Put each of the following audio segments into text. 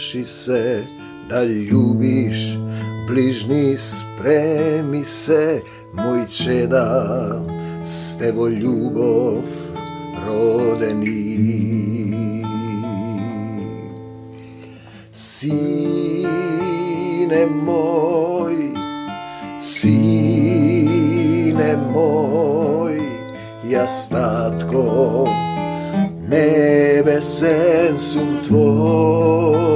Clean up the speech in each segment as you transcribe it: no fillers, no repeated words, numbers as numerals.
Научи се да љубиш ближни, спреми се, мој чеда, сте во љубов родени. Сине мој, јас татко, небесен сум твој.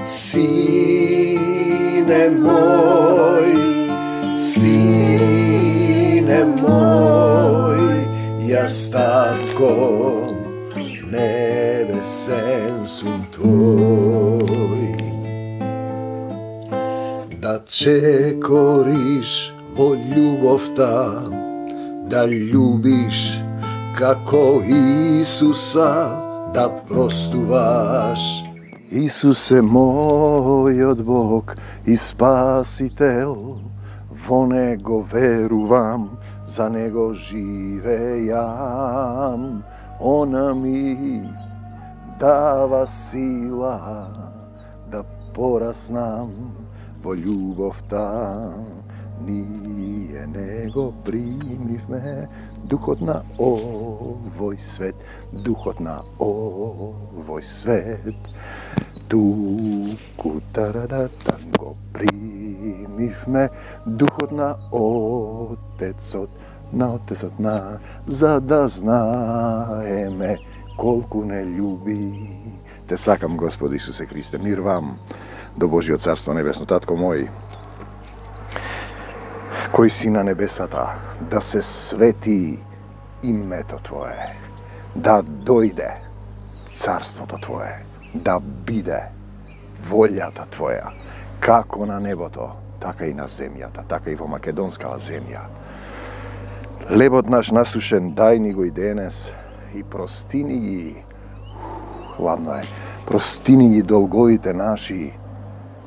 Сине мој, јас татко, небесен сум твој. Да чекориш во љубовта, да љубиш како Исуса, да простуваш. Исус е мојот Бог и Спасител, во Него верувам, за Него живејам. Она ми дава сила да пораснам во љубовта. Ние Него примивме, духот на овој свет, духот на овој свет. Туку тарадатан го примивме, духот на Отецот, за да знаеме колку не љуби. Те сакам, Господи Исусе Христе, мир вам до Божиот царство небесно. Татко мој, кој си на небесата, да се свети името Твое, да дојде царството Твое, да биде волјата Твоја, како на небото, така и на земјата, така и во македонскава земја. Лебот наш насушен, дај ни го и денес и простини ги, ладно е, простини ги долговите наши,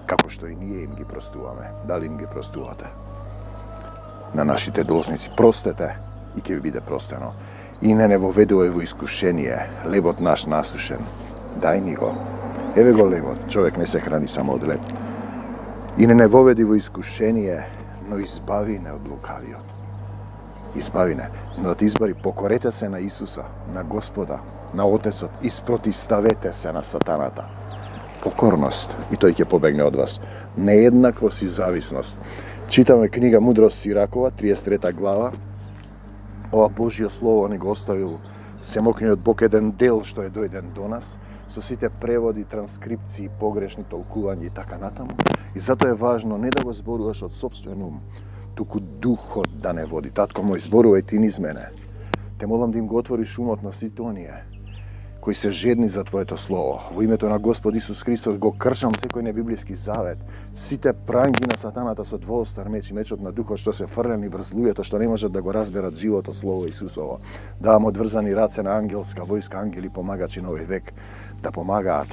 како што и ние им ги простуваме. Дали им ги простувате? На нашите должници простете и ќе ви биде простено. И не воведувај во искушение, лебот наш насушен, дај ни го. Еве го лебот, човек не се храни само од леб. И не воведи во искушение, но избави не од лукавиот. Избави не, но да ти избави, покорете се на Исуса, на Господа, на Отецот, испротиставете се на сатаната. Покорност, и тој ќе побегне од вас. Нееднаквост и зависност. Читаме книга Мудрост Сиракова, 33 глава. Ова Божјо слово ни го оставил Семокниот Бог, еден дел што е дојден до нас, со сите преводи, транскрипции, погрешни толкувања и така натаму. И затоа е важно не да го зборуваш од сопствен ум, туку духот да не води. Татко мој, зборувај ти низ мене. Те молам да им го отвориш умот на сите оние кои се жедни за Твоето слово. Во името на Господ Исус Христос го кршам секој небиблиски завет, сите пранги на сатаната со двоостар меч и мечот на духот што се фрлени врз луѓето што не можат да го разберат живото слово Исусово. Давам одврзани раце на ангелска војска, ангели помагачи на овој век, да помагаат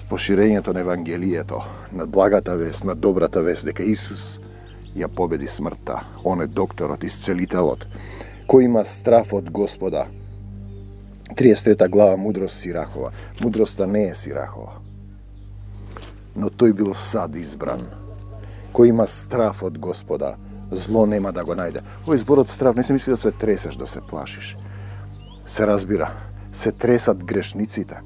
по ширењето на Евангелието, на благата вест, на добрата вест, дека Исус ја победи смртта. Он е докторот, исцелителот, кој има страф од Господа. 33 глава Мудрост Сирахова. Мудроста не е Сирахова, но тој бил сад избран. Кој има страф од Господа, зло нема да го најде. Овој зборот страф не се мисли да се тресеш, да се плашиш. Се разбира, се тресат грешниците.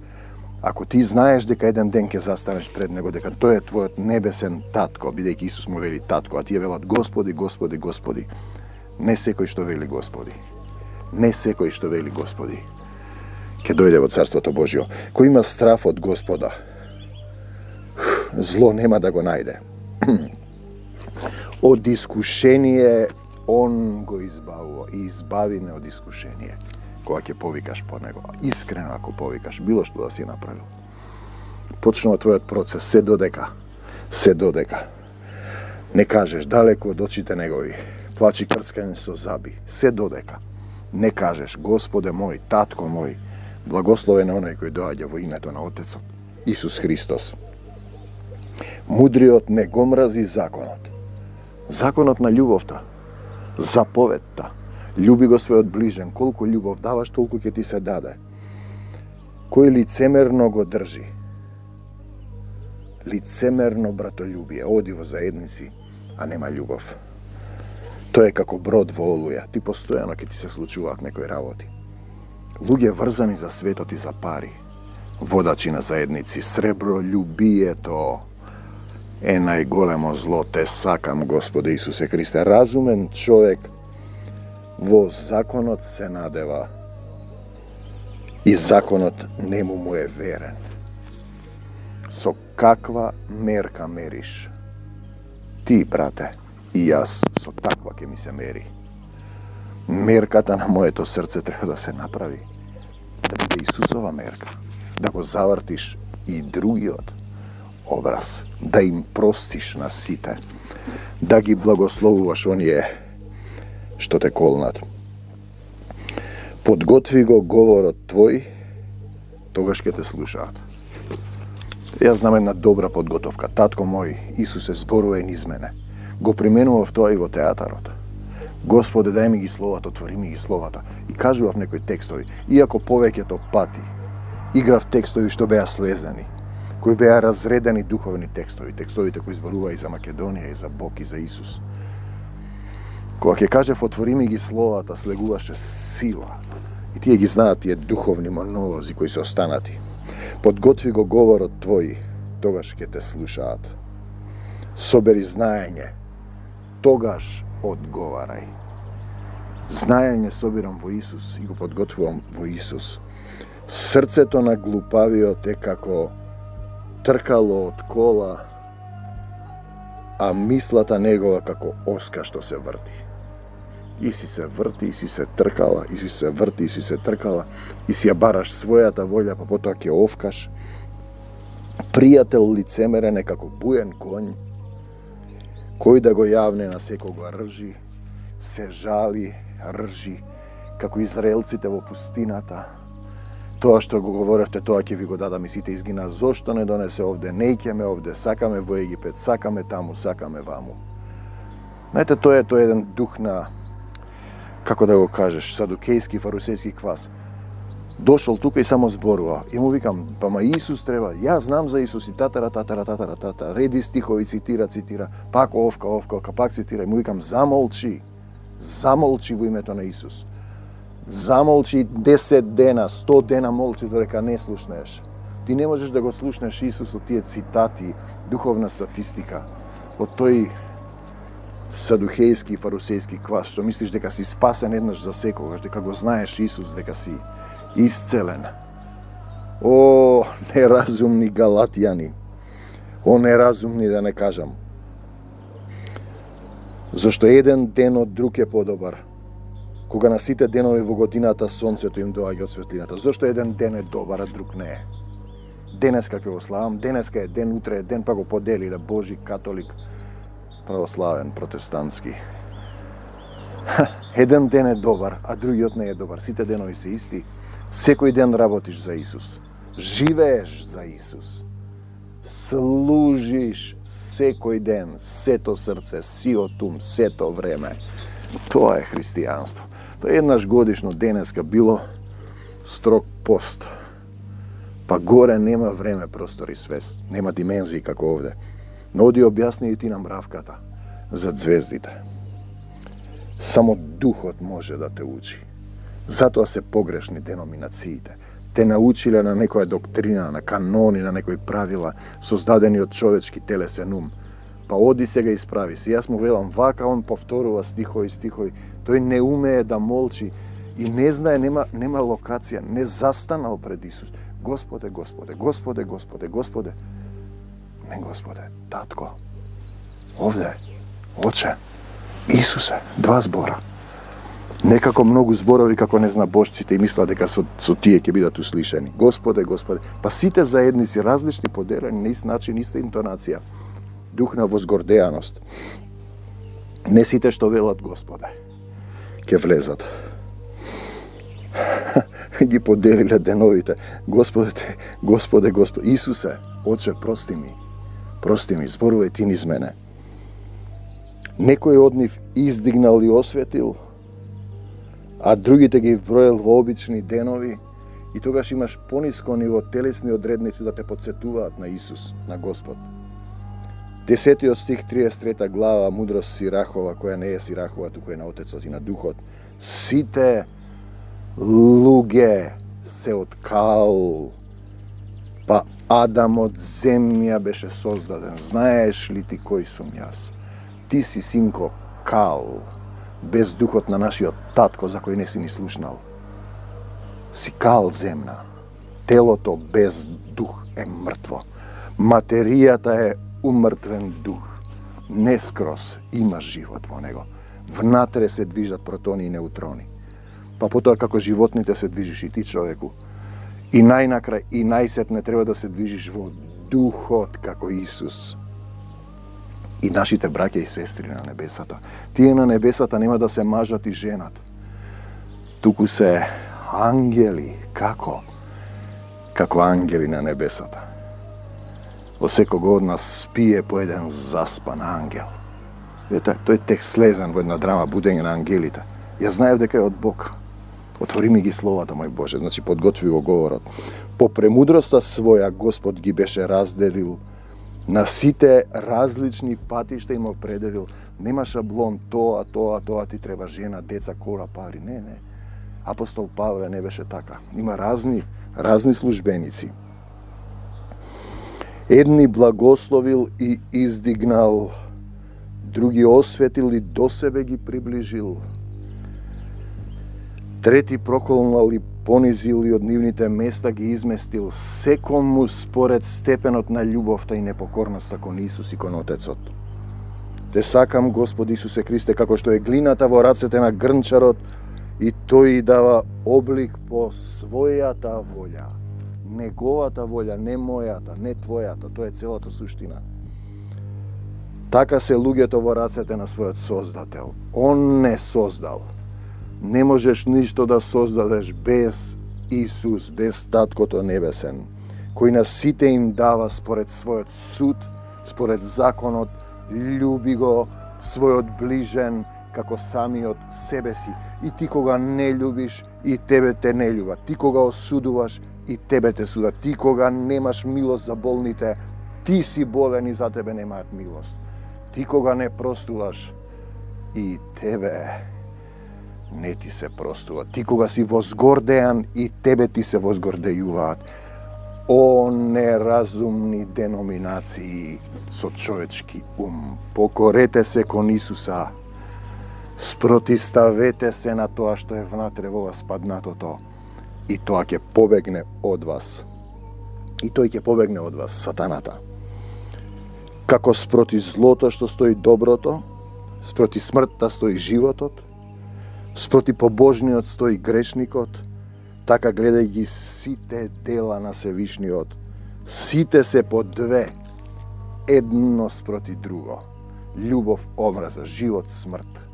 Ако ти знаеш дека еден ден ќе застанеш пред Него, дека тој е твојот небесен татко, бидејќи Исус му вели татко, а тие велат Господи, Господи, Господи. Не секој што вели Господи. Не секој што вели Господи ќе дојде во Царството Божјо. Кој има страф од Господа, зло нема да го најде. Од искушение Он го избавува и избави не од искушение. Кога ќе повикаш по Него, искрено ако повикаш, било што да си направил. Почнува твојот процес, се додека не кажеш далеко од очите Негови, плачи крцкани со заби, се додека не кажеш Господе мој, татко мој, благословен е оној кој доаѓа во името на Отецот, Исус Христос. Мудриот не го мрази законот. Законот на љубовта, заповедта. Љуби го својот ближен, колку љубов даваш, толку ќе ти се даде. кој лицемерно го држи. Лицемерно братолюбие, оди во заедници, а нема љубов. Тоа е како брод во олуја, ти постојано ќе ти се случуваат некои работи. Луѓе врзани за светот и за пари, водачи на заедници, сребролюбието е најголемо зло, те сакам, Господе Исусе Христе. Разумен човек во законот се надева и законот нему му е верен. Со каква мерка мериш? Ти, брате, и јас со таква ќе ми се мери. Мерката на моето срце треба да се направи, да биде Исусова мерка, да го завртиш и другиот образ, да им простиш на сите, да ги благословуваш оние што те колнат. Подготви го говорот твој, тогаш ќе те слушаат. Јас знам една добра подготовка. Татко мој, Исусе, зборува низ мене. Го применував тоа и во театарот. Господе, дај ми ги словата, отвори ми ги словата. И кажував некои текстови, иако повеќето пати играв текстови што беа слезени, кои беа разредени духовни текстови, текстовите кои зборува и за Македонија, и за Бог, и за Исус. Кога ќе кажев отвори ми ги словата, слегуваше сила. И тие ги знаат тие духовни монолози кои се останати. Подготви го говорот твој, тогаш ќе те слушаат. Собери знаење, тогаш одговарај. Знаење собирам во Исус и го подготвувам во Исус. Срцето на глупавиот е како тркало од кола, а мислата негова како оска што се врти. И си се врти, и си се тркала, и си се врти, и си се тркала, и си ја бараш својата волја, па потоа ќе овкаш. Пријател лицемерен е како буен конј, кој да го јавне на секого ржи, се жали, ржи, како израелците во пустината. Тоа што го говоревте, тоа ќе ви го дадам и сите изгина. Зошто не донесе овде? Неќеме овде, сакаме во Египет, сакаме таму, сакаме ваму. Знаете, тоа е еден дух на, како да го кажеш, садукејски, фарусејски квас. Дошол тука и само зборува. И му викам, па ма Исус треба. Јас знам за Исус и татара. Реди стихови, цитира. Пак овка, пак цитира. И му викам, замолчи во името на Исус. Замолчи 10 дена, 100 дена молчи додека не слушнеш. Ти не можеш да го слушнеш Исус од тие цитати, духовна статистика, од тој садухејски и фарусејски квас, што мислиш дека си спасен еднаш за секогаш, дека го знаеш Исус, дека си исцелен. О, неразумни галатјани. О, неразумни да не кажам. Зашто еден ден од друг е подобар. Кога на сите денови во годината сонцето им доаѓа од светлината. Зошто еден ден е добар, а друг не е? Денеска ќе го славам, денеска е ден, утре е ден, па го поделиле Божи, католик, православен, протестантски. Еден ден е добар, а другиот не е добар. Сите денови се исти. Секој ден работиш за Исус. Живееш за Исус. Служиш секој ден, сето срце, сиот ум, сето време. Тоа е христијанство. Тоа еднаш годишно денеска било строг пост. Па горе нема време, простор и свест. Нема димензии како овде. Но оди објасни и ти нам мравката за звездите. Само духот може да те учи. Затоа се погрешни деноминациите. Те научиле на некоја доктрина, на канони, на некои правила, создадени од човечки телесен ум. Па оди сега исправи се. Јас му велам вака, он повторува стихови. Тој не умее да молчи и не знае, нема локација, не застанал пред Исус. Господе. Не, Господе, татко. Овде, Оче, Исусе, 2 збора. Некако многу зборови како не зна божците и мисла дека со тие ќе бидат услишани. Господе. Па сите заедници, различни, поделени, на ист начин, иста интонација. Дух на возгордеаност. Не сите што велат Господе ќе влезат. Ги поделиле деновите. Господе, Исусе, Оче, прости ми, зборувај ти низ мене. Некој од нив издигнал и осветил, а другите ги вброил во обични денови И тогаш имаш пониско ниво телесни одредници да те подсетуваат на Исус, на Господ. 10 стих, 33 глава, мудрост Сирахова, која не е Сирахова, туку е на Отецот и на Духот. Сите луѓе се од кал, па Адам од земја беше создаден. Знаеш ли ти кој сум јас? Ти си, синко, кал, без духот на нашиот татко, за кој не си ни слушнал. Си кал земна. Телото без дух е мртво. Материјата е умртвен дух. Не скроз има живот во него. Внатре се движат протони и неутрони. Па потоа како животните се движиш и ти, човеку. И најнакрај и најсетне треба да се движиш во духот како Исус. И нашите браќа и сестри на небесата. Тие на небесата нема да се мажат и женат. Туку се ангели. Како? Како ангели на небесата. Во секого од нас спие по еден заспан ангел. Тој текст слезен во една драма Будење на ангелите. Ја знаев дека е од Бог. Отвори ми ги словата, мој Боже, значи подготви го говорот. По премудроста своја Господ ги беше разделил на сите различни патишта, им определил. Нема шаблон, тоа, ти треба жена, деца, кора, пари. Не. Апостол Павле не беше така. Има разни службеници. Едни благословил и издигнал, други осветил и до себе ги приближил. Трети проколнал и понизил и од нивните места ги изместил, секому според степенот на љубовта и непокорноста кон Исус и кон Отецот. Те сакам, Господ Исусе Христе, како што е глината во рацете на грнчарот, и тој дава облик по својата волја. Неговата волја, не мојата, не твојата, тоа е целата суштина. Така се луѓето во рацете на својот Создател. Он не создал. Не можеш ништо да создадеш без Исус, без Таткото Небесен, кој на сите им дава според својот суд, според законот, љуби го својот ближен како самиот себе си. И ти кога не љубиш, и тебе те не љуба. Ти кога осудуваш, и тебе те суда. Ти кога немаш милост за болните, ти си болен и за тебе немаат милост. Ти кога не простуваш, и тебе не ти се простува. Ти кога си возгордеан, и тебе ти се возгордејуваат. О неразумни деноминации со човечки ум. Покорете се кон Исуса. Спротиставете се на тоа што е внатре во вас паднатото. И тоа ќе побегне од вас. И тој ќе побегне од вас, сатаната. Како спроти злото што стои доброто, спроти смртта стои животот, спроти побожниот стои грешникот, така гледај ги сите дела на Севишниот. Сите се по две, едно спроти друго. Љубов, омраза, живот, смрт,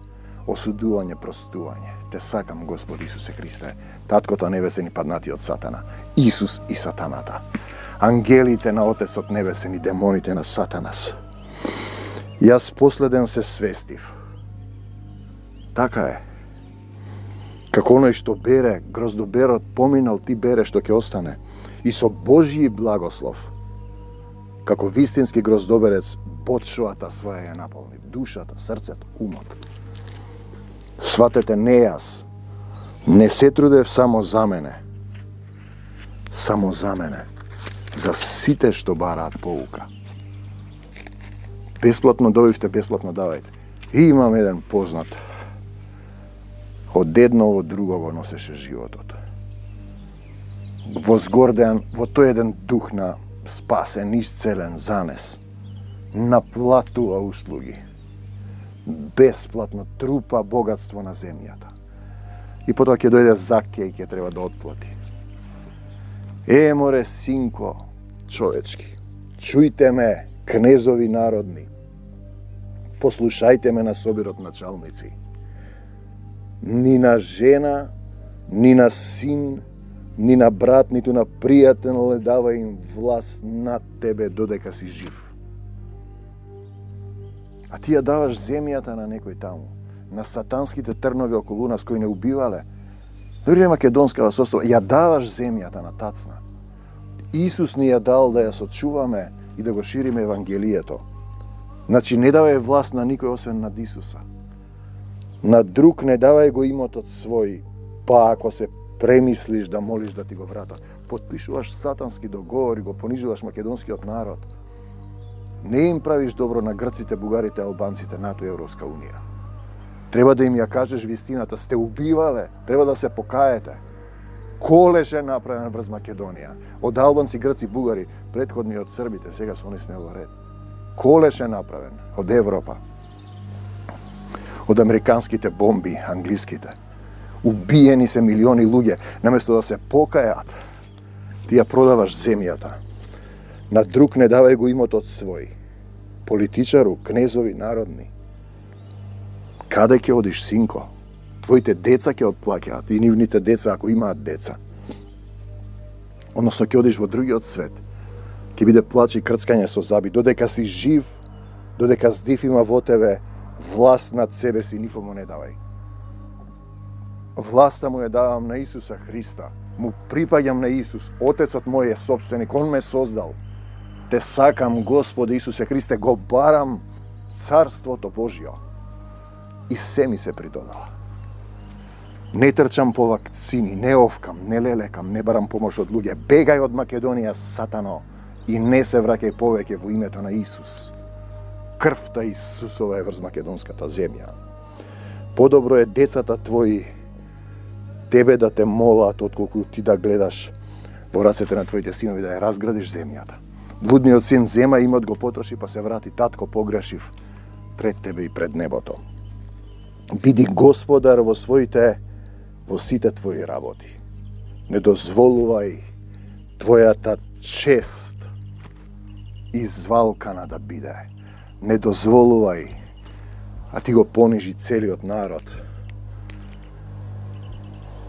осудување, простување. Те сакам, Господ Исусе Христе, Таткото Небесен и паднатиот Сатана, Исус и Сатаната, ангелите на Отецот Небесен и демоните на Сатанас. Јас последен се свестив. Така е. Како оној што бере, гроздоберот поминал, ти бере што ќе остане. И со Божји благослов, како вистински гроздоберец, бочвата своја ја наполни. Душата, срцето, умот. Сватете, не јас. Не се трудев само за мене. Само за мене. За сите што бараат поука. Бесплатно добивте, бесплатно давајте. И имам еден познат. Од едно во друго го носеше животот. Возгордеан во тој еден дух на спасен, исцелен, занес. Наплатува услуги. Бесплатно трупа богатство на земјата. И потоа ќе дојде Закеј и ќе треба да отплати. Море, синко, човечки, чујте ме, кнезови народни, послушајте ме на собирот началници. Ни на жена, ни на син, ни на брат, ниту на пријател не дава им власт над тебе додека си жив. А ти ја даваш земјата на некој таму, на сатанските трнови околу нас кои не убивале, Дори македонскава состава, ја даваш земјата на тацна. Исус ни ја дал да ја сочуваме и да го шириме Евангелието. Значи, не давај власт на никој освен над Исуса. На друг не давај го имотот свој, па ако се премислиш да молиш да ти го вратат. Потпишуваш сатански договори, го понижуваш македонскиот народ. Не им правиш добро на грците, бугарите, албанците, НАТО и Европска унија. Треба да им ја кажеш вистината, сте убивале, треба да се покаете. Колеш е направен врз Македонија. Од албанци, грци, бугари, предходни од србите, сега се они сме во ред. Колеш е направен од Европа. Од американските бомби, англиските. Убиени се милиони луѓе, наместо да се покајат, ти ја продаваш земјата. На друг не давај го имотот свој. Политичару, кнезови, народни. Каде ќе одиш, синко? Твоите деца ќе отплаќаат и нивните деца, ако имаат деца. Односно ќе одиш во другиот свет. Ќе биде плач и крцкање со заби. Додека си жив, додека здив има во тебе, власт над себе си никому не давај. Власта му ја давам на Исуса Христа. Му припаѓам на Исус. Отецот мој е собственик, он ме создал. Те сакам, Господи Исусе Христе, го барам Царството Божјо. И се ми се придодава. Не трчам по вакцини, не овкам, не лелекам, не барам помош од луѓе. Бегај од Македонија, сатано, и не се враќај повеќе во името на Исус. Крвта Исусова е врз македонската земја. Подобро е децата твои тебе да те молат, отколку ти да гледаш во рацете на твоите синови да ја разградиш земјата. Блудниот син зема имот го потроши, па се врати, татко, погрешив пред тебе и пред небото. Биди господар во сите твои работи. Не дозволувај твојата чест извалкана да биде. Не дозволувај, а ти го понижи целиот народ.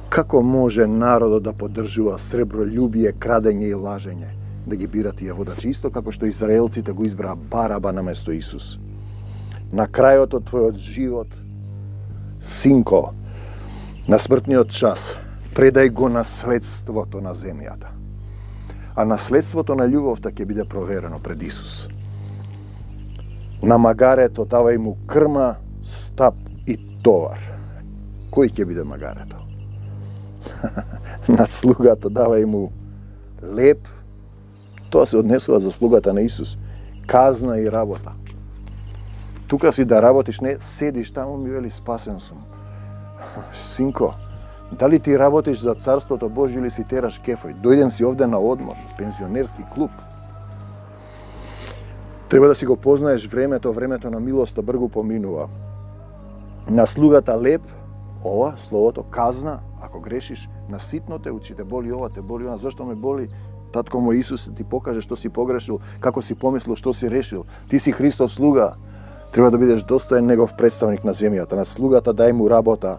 Како може народот да поддржува сребролюбие, крадење и лажење, да ги бира тие водачи, исто како што израелците го избраа Бараба наместо Исус? На крајот од твојот живот, синко, на смртниот час, предај го наследството на земјата. А наследството на љубовта ќе биде проверено пред Исус. На магарето давај му крма, стап и товар. Кој ќе биде магарето? На слугата давај му леп. Тоа се однесува за слугата на Исус. Казна и работа. Тука си да работиш, не седиш таму, ми вели спасен сум. Синко, дали ти работиш за Царството Божјо или си тераш кефој? Дојден си овде на одмор, пензионерски клуб. Треба да си го познаеш времето на милоста бргу поминува. На слугата леп, ова, словото, казна, ако грешиш, на ситно те учи, те боли ова, те боли она. Зошто ме боли? Татко мој Исус ти покаже што си погрешил, како си помислил, што си решил. Ти си Христов слуга. Треба да бидеш достоен негов представник на земјата. На слугата дај му работа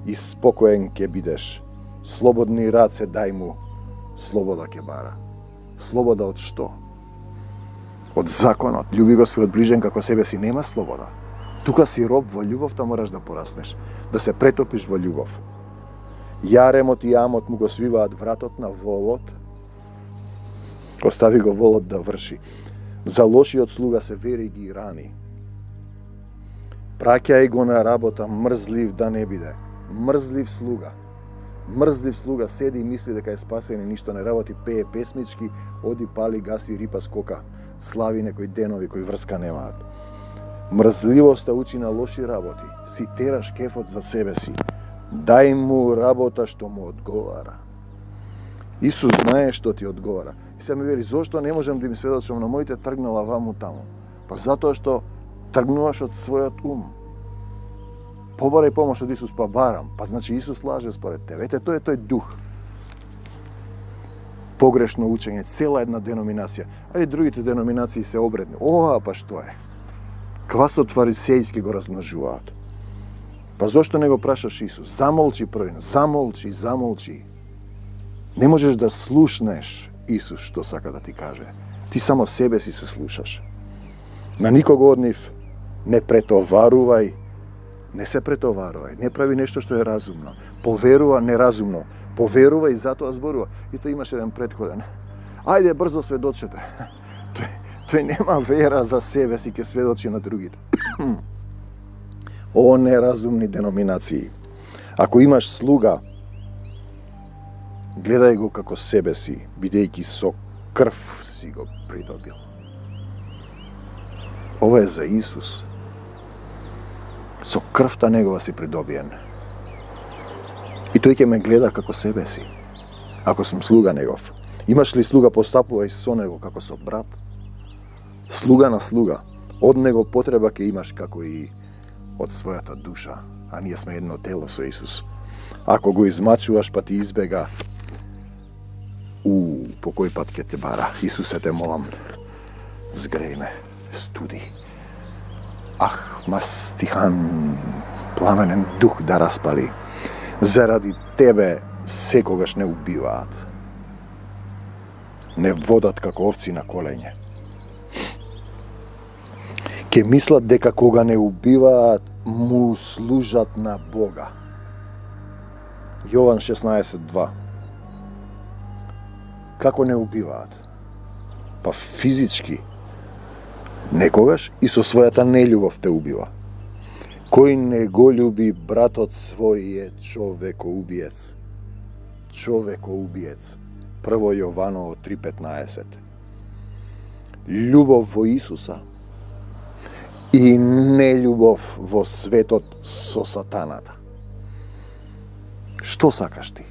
и спокоен ќе бидеш. Слободни раце дај му, слобода ќе бара. Слобода од што? Од законот. Љуби го својот ближен како себе си, нема слобода. Тука си роб, во љубовта мораш да пораснеш, да се претопиш во љубов. Јаремот и јамот му го свиваат вратот на волот. Остави го волот да врши. За лошиот слуга се вери ги рани. Праќај го на работа, мрзлив да не биде. Мрзлив слуга. Мрзлив слуга седи и мисли дека е спасен и ништо не работи, пее песмички, оди пали, гаси, рипа, скока, слави некои денови кои врска немаат. Мрзливоста учи на лоши работи. Си тераш кефот за себе си. Дај му работа што му одговара. Исус знае што ти одговара. И се ми вели, зошто не можам да им сведочам на моите тргнала ваму таму? Па затоа што тргнуваш од својот ум. Побарај помош од Исус, па барам. Па значи Исус лаже според тебе. Ете, тој е тој дух. Погрешно учење, цела една деноминација. Али другите деноминации се обредни. Ова, па што е? Квасот фарисејски го размножуваат. Па зошто не го прашаш Исус? Замолчи првин, замолчи. Не можеш да слушнеш Исус што сака да ти каже. Ти само себе си се слушаш. На никого од нив не претоварувај Не се претоварувај, не прави нешто што е разумно. Поверува неразумно. Поверува и затоа зборува. И тој имаше еден претходен. Ајде брзо сведочете. Тој нема вера за себе си, ќе сведочи на другите. О неразумни деноминации. Ако имаш слуга, гледај го како себе си, бидејќи со крв си го придобил. Ова е за Исус. Со крвта негова си придобиен. И тој ќе ме гледа како себе си. Ако сум слуга негов. Имаш ли слуга, постапувај со него како со брат. Слуга на слуга. Од него потреба ќе имаш како и од својата душа. А ние сме едно тело со Исус. Ако го измачуваш па ти избега, по кој пат ќе те бара? Исусе, те молам, згреј ме, студи. Мастихан, пламенен дух да распали. Заради тебе секогаш не убиваат. Не водат како овци на колење. Ке мислат дека кога не убиваат, му служат на Бога. Јован 16:2. Како не убиваат? Па физички. Некогаш и со својата нељубов те убива. Кој не го љуби братот свој е човекоубиец. Човекоубиец. 1 Јованово 3:15. Љубов во Исуса и нељубов во светот со сатаната. Што сакаш ти?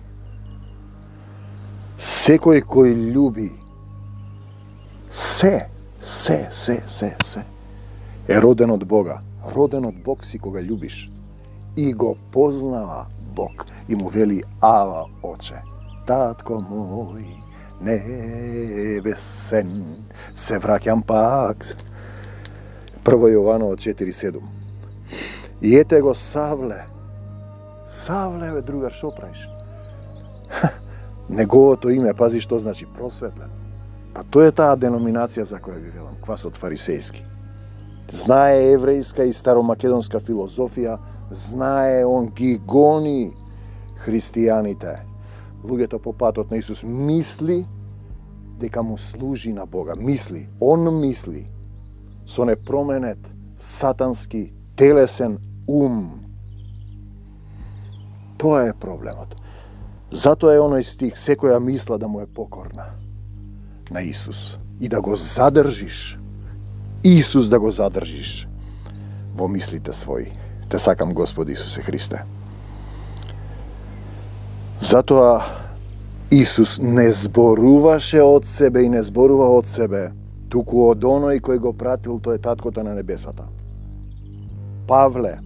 Секој кој љуби се е роден од Бога. Роден од Бог си кога љубиш. И го познава Бог. И му вели: Ава, Оче, татко мој небесен, се враќам пак. 1 Јованово 4:7. И ете го Савле. Савле, бе, другар, шо правиш? Неговото име, пази што значи, просветлен. Па тоа е таа деноминација за која ви велам, квасот фарисејски. Знае еврејска и старомакедонска филозофија, знае, он ги гони христијаните. Луѓето по патот на Исус мисли дека му служи на Бога. Мисли, он мисли со непроменет сатански телесен ум. Тоа е проблемот. Затоа е оној стих: секоја мисла да му е покорна на Исус и да го задржиш. Исус да го задржиш во мислите своји. Те сакам, Господи Исусе Христе. Затоа Исус не зборуваше од себе и не зборува од себе, туку од оној кој го пратил, тој е таткото на небесата. Павле.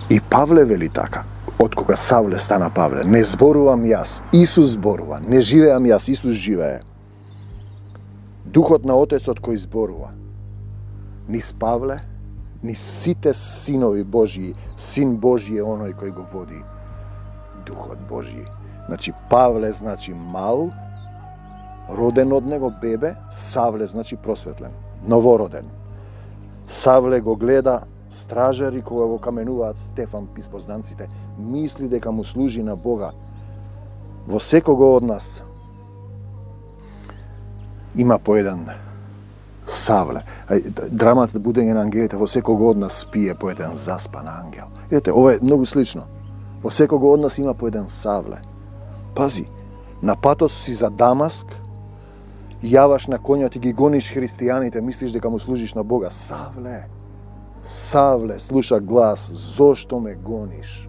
И Павле вели така, од кога Савле стана Павле: не зборувам јас, Исус зборува, не живеам јас, Исус живее. Духот на Отецот кој зборува. Низ Павле, низ сите синови Божји, син Божји е оној кој го води Духот Божји. Значи Павле значи мал, роден од него бебе, Савле значи просветлен, новороден. Савле го гледа стражари кога го каменуваат Стефан, писпознанците, мисли дека му служи на Бога. Во секого од нас има по еден Савле. Драмата Будење на ангелите, во секого од нас спие по еден заспан ангел. Ете, ова е многу слично. Во секого од нас има по еден Савле. Пази, на патот си за Дамаск, јаваш на конјот и ги гониш христијаните, мислиш дека му служиш на Бога. Савле, слуша глас: зошто ме гониш?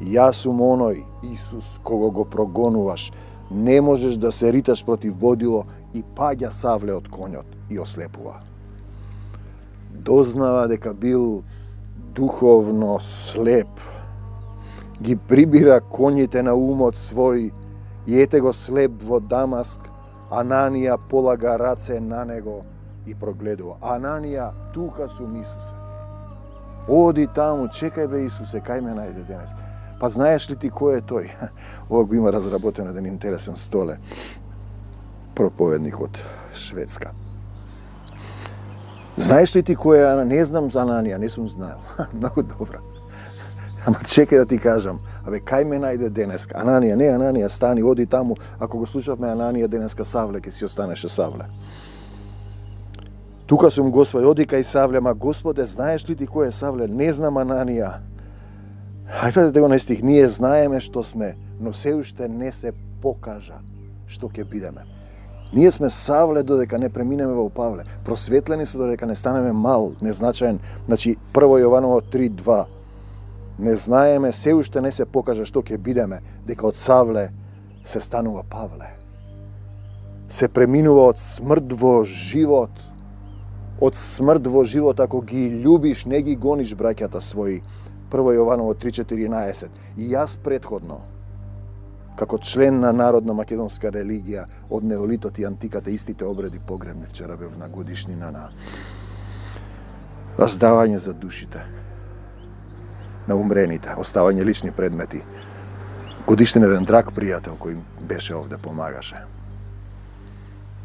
Јас сум оној Исус кого го прогонуваш. Не можеш да се риташ против водило, и паѓа Савле од конјот и ослепува. Дознава дека бил духовно слеп. Ги прибира конјите на умот свој и ете го слеп во Дамаск. Ананија полага раце на него и прогледува. Ананија, тука сум, Исусе. Оди таму, чекај бе, Исусе, кај ме најде денес. Па знаеш ли ти кој е тој? Ова го има разработено еден интересен столе. проповедник од Шведска. Знаеш ли ти кој е? Не знам за Ананија, не сум знаел. Многу добро. Ама чекај да ти кажам, кај ме најде денеска? Ананија, не Ананија, стани, оди таму. Ако го слушавме Ананија денеска, Савле ќе си останеше Савле. Тука сум Господи, оди кај Савле, ма Господе, знаеш ли ти кој е Савле? Не знам Ананија. Хајде да го на стих, ние знаеме што сме, но се уште не се покажа што ќе бидеме. Ние сме Савле додека не преминеме во Павле. Просветлени сме додека не станеме мал, незначаен. Значи, 1 Јованово 3:2. Не знаеме, се уште не се покажа што ќе бидеме, дека од Савле се станува Павле. Се преминува од смрт во живот. Од смрт во живот, ако ги љубиш, не ги гониш браќата своји. 1 Јованово 3:14. И јас предходно, како член на народна македонска религија, од неолитот и антиката, истите обреди погребни. Вчера бев на годишнина на раздавање за душите на умрените, оставање лични предмети. Годишнина еден драг пријател кој беше овде, помагаше.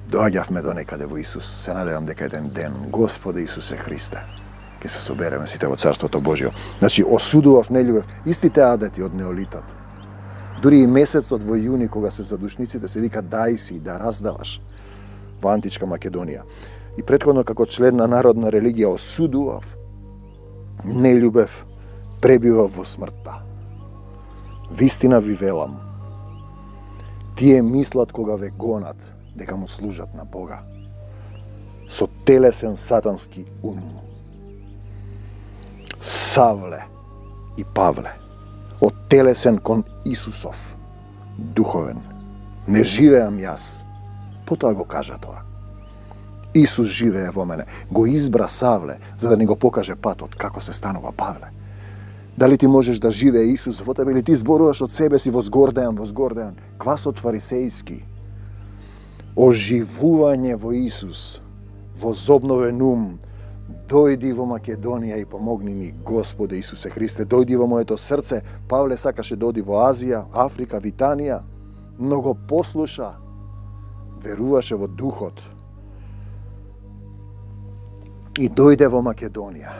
Доаѓавме до некаде во Исус. Се надевам дека еден ден, Господе Исусе Христе, ќе се собереме сите во Царството Божјо. Значи, осудував, не љубев истите адети од неолитот. Дури и месецот во јуни, кога се задушниците, се вика дај си, да раздаваш во античка Македонија. И претходно, како член на народна религија, осудував, не љубев, пребивав во смртта. Вистина ви велам, тие мислат кога ве гонат, дека му служат на Бога, со телесен сатански ум. Савле и Павле, од телесен кон Исусов, духовен. Не живеам јас, потоа го кажа тоа. Исус живее во мене. Го избра Савле, за да ни го покаже патот, како се станува Павле. Дали ти можеш да живее Исус во тебе или ти зборуваш од себе си возгордеан, квасот фарисејски. Оживување во Исус, возобновен ум, дојди во Македонија и помогни ми, Господе Исусе Христе, дојди во моето срце. Павле сакаше да оди во Азија, Африка, Витанија, но го послуша, веруваше во духот и дојде во Македонија.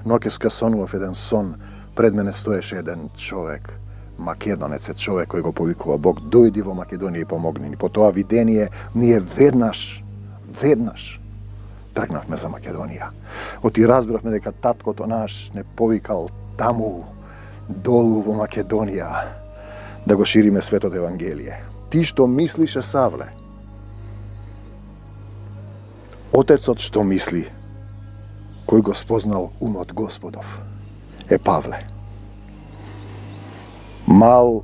Ноќеска сонував еден сон, пред мене стоеше еден човек, македонец е човек кој го повикува Бог, дојди во Македонија и помогни ни. По тоа видение ние веднаш тргнавме за Македонија. Оти разбравме дека таткото наш не повикал таму, долу во Македонија, да го шириме светото Евангелие. Ти што мислише Савле, отецот што мисли, кој го спознал умот Господов, е Павле. Мал,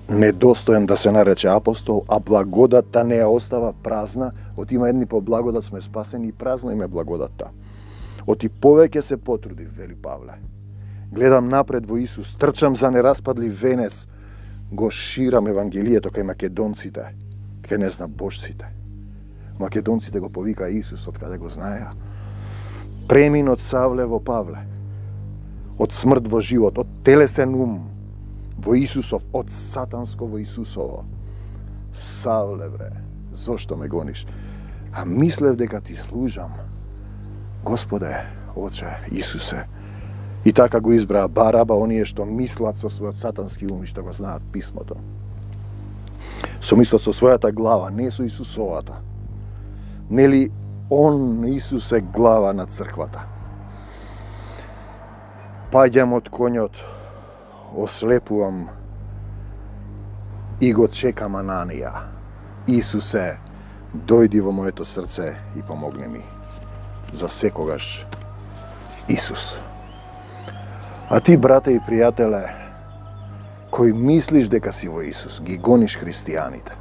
недостоен да се нарече апостол, а благодатта не ја остава празна. Оти има едни по благодат сме спасени и празна им е благодатта. Оти повеќе се потруди, вели Павле. Гледам напред во Исус, трчам за нераспадлив венец, го ширам Евангелието кај македонците, кај незнабожците. Македонците го повика Исус, од каде го знаеа. Премин од Савле во Павле, од смрт во живот, од телесен ум во Исусов, од сатанско во Исусово. Савле, бре, зошто ме гониш? А мислев дека ти служам. Господе, Оче, Исусе. И така го избраа Бараба, оние што мислат со својот сатански ум и што го знаат писмото. Со мислат со својата глава, не со Исусовата. Нели он, Исус, е глава на црквата. Паѓам од конјот, ослепувам и го чекам Ананија. Исусе, дојди во моето срце и помогни ми. За секогаш, Исус. А ти, брате и пријателе, кој мислиш дека си во Исус, ги гониш христијаните.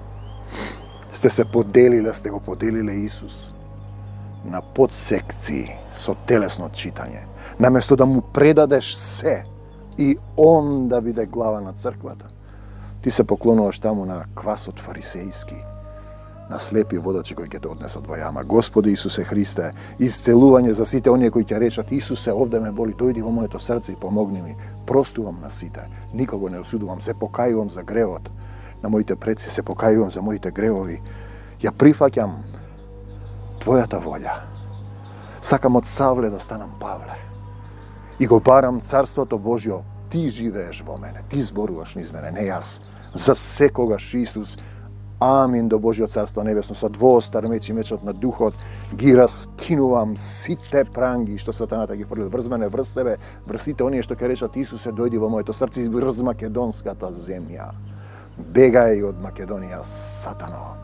Сте се поделиле, сте го поделиле Исус на подсекции со телесно читање. Наместо да му предадеш се и он да биде глава на црквата, ти се поклонуваш таму на квасот фарисејски, на слепи водачи кои ќе те однесат во јама. Господи Исусе Христе, исцелување за сите оние кои ќе речат: Исусе, овде ме боли, дојди во моето срце и помогни ми. Простувам на сите, никого не осудувам, се покајувам за гревот на моите предци, се покајувам за моите гревови Ја прифаќам Твојата волја. Сакам од Савле да станам Павле. И го барам Царството Божјо. Ти живееш во мене, ти зборуваш низ мене, не јас. За секогаш Исус. Амин до Божјо Царство Небесно. Со двоостар меч и мечот на Духот ги раскинувам сите пранги што сатаната ги фрлил врз мене, врз тебе, врз сите оние што ќе речат Исусе, дојди во моето срце, врз македонската земја. Бегај од Македонија, сатано.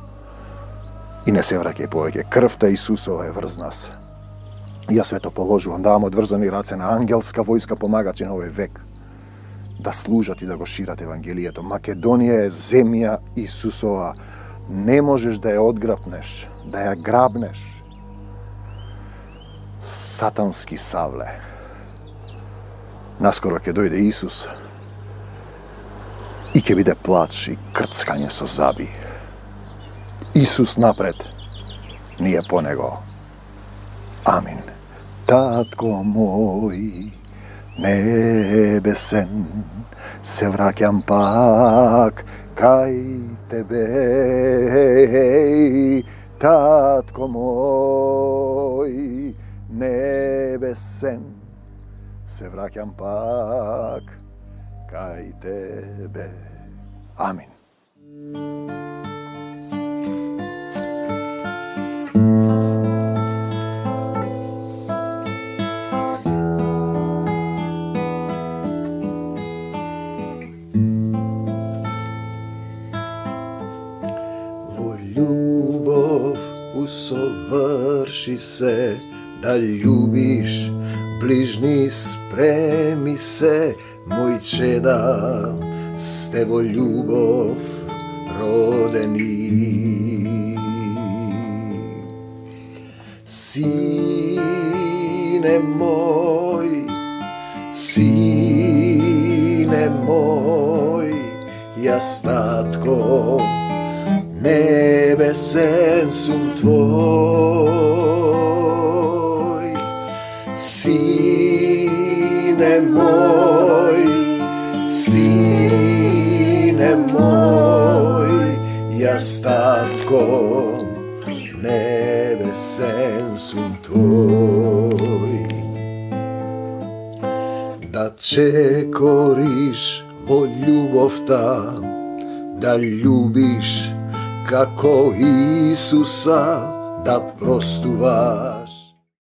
И не се враќај повеќе. Крвта Исусова е врз нас. И јас свето положувам, давам одврзани раце на ангелска војска помагачи на овој век да служат и да го шират Евангелието. Македонија е земја Исусова. Не можеш да ја одграбнеш, да ја грабнеш. Сатански Савле. Наскоро ќе дојде Исус и ќе биде плач и крцкање со заби. Исус напред, ние по него. Амин. Татко мој небесен, се враќам пак кај тебе. Татко мој небесен, се враќам пак кај тебе. Амин. Љубов усоврши се, да љубиш ближни спреми се, мој чеда, сте во љубов родени. Сине мој, јас татко, небесен сум твој. Сине мој, јас татко, небесен сум твој. Да чекориш во љубовта, да љубиш како Исуса, да простуваш